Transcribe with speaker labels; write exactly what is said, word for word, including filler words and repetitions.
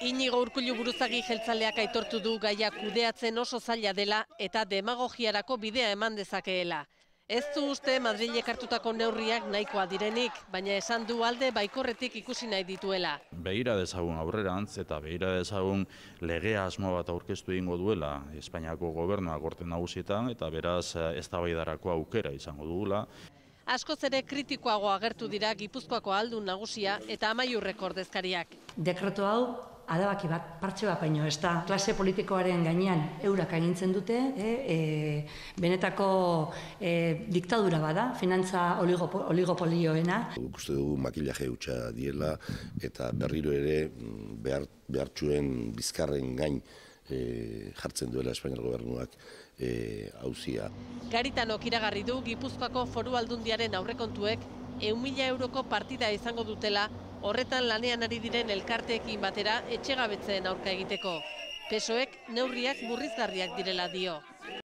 Speaker 1: Inigo Urkullu buruzagi jeltzaleak aitortu du gaia kudeatzen oso zaila dela eta demagogiarako bidea eman dezakeela. Ez du uste Madrilek hartutako neurriak nahikoa direnik, baina esan du alde baikorretik ikusi nahi dituela.
Speaker 2: Begira dezagun aurrerantz eta begira dezagun legea asmo bat aurkeztu egingo duela Espainiako gobernuak Gorte Nagusietan eta beraz eztabaidarako aukera izango dugula.
Speaker 1: Askoz ere kritikoago agertu dira Gipuzkoako Ahaldun Nagusia eta Amaiurreko ordezkariak.
Speaker 3: Dekreto hau adabaki bat, partxe bat baino, ez da klase politikoaren gainean eurak agintzen dute, e, e, benetako e, diktadura bada, finantza oligopo, oligopolioena.
Speaker 4: Uste dugu makillaje hutsa diela eta berriro ere behar, behartxuen bizkarren gain e, jartzen duela Espainiar gobernuak hauzia. E,
Speaker 1: Garitanok iragarri du Gipuzkoako Foru Aldundiaren aurrekontuek ehun mila euroko partida izango dutela, horretan lanean ari diren elkarteekin batera etxegabetzeen aurka egiteko. P S O Ek neurriak murrizgarriak direla dio.